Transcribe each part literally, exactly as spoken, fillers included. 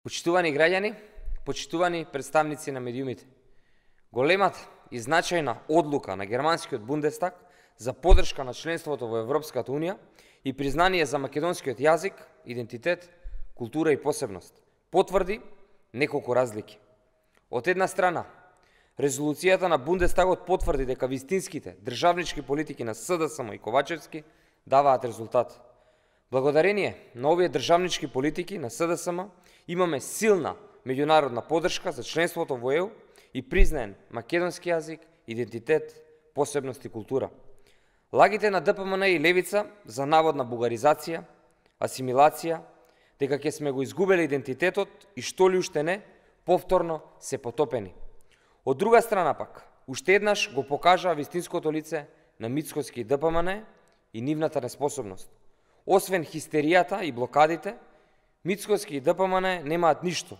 Почитувани граѓани, почитувани представници на медиумите, големата и значајна одлука на германскиот Бундестаг за поддршка на членството во Европската Унија и признание за македонскиот јазик, идентитет, култура и посебност потврди неколку разлики. Од една страна, резолуцијата на Бундестагот потврди дека вистинските државнички политики на СДСМ и Ковачевски даваат резултат. Благодарение на овие државнички политики на СДСМ имаме силна меѓународна поддршка за членството во ЕУ и признаен македонски јазик, идентитет, посебност и култура. Лагите на ДПМН и Левица за наводна бугаризација, асимилација, дека ќе сме го изгубили идентитетот и што ли уште не, повторно се потопени. Од друга страна пак, уште еднаш го покажа вистинското лице на Мицкоски и ДПМН и нивната неспособност. Освен хистеријата и блокадите, Мицкоски и ДПМН немаат ништо,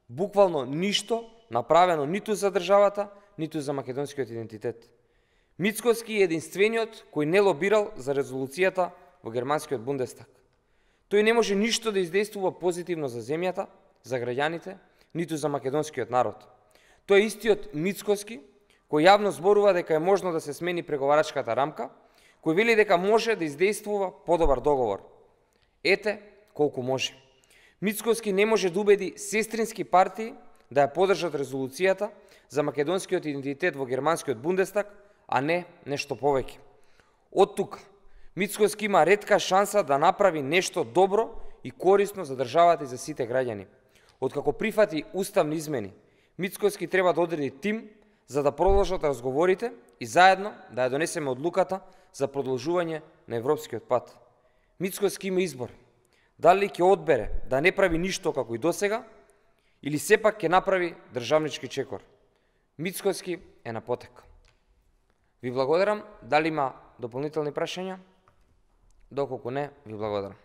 буквално ништо направено ниту за државата, ниту за македонскиот идентитет. Мицкоски е единствениот кој не лобирал за резолуцијата во германскиот Бундестаг. Тој не може ништо да издействува позитивно за земјата, за граѓаните, ниту за македонскиот народ. Тој е истиот Мицкоски кој јавно зборува дека е можно да се смени преговарачката рамка, кој вели дека може да издействува подобар договор. Ете колку може. Мицкоски не може да убеди сестрински партии да ја поддржат резолуцијата за македонскиот идентитет во германскиот Бундестаг, а не нешто повеќе. Од тука, Мицкоски има ретка шанса да направи нешто добро и корисно за државата и за сите граѓани. Откако прифати уставни измени, Мицкоски треба да одреди тим за да продолжат разговорите и заедно да ја донесеме одлуката за продолжување на европскиот пат. Мицкоски има избор. Дали ќе одбере да не прави ништо како и досега, или сепак ќе направи државнички чекор. Мицкоски е на потек. Ви благодарам. Дали има дополнителни прашања? Доколку не, ви благодарам.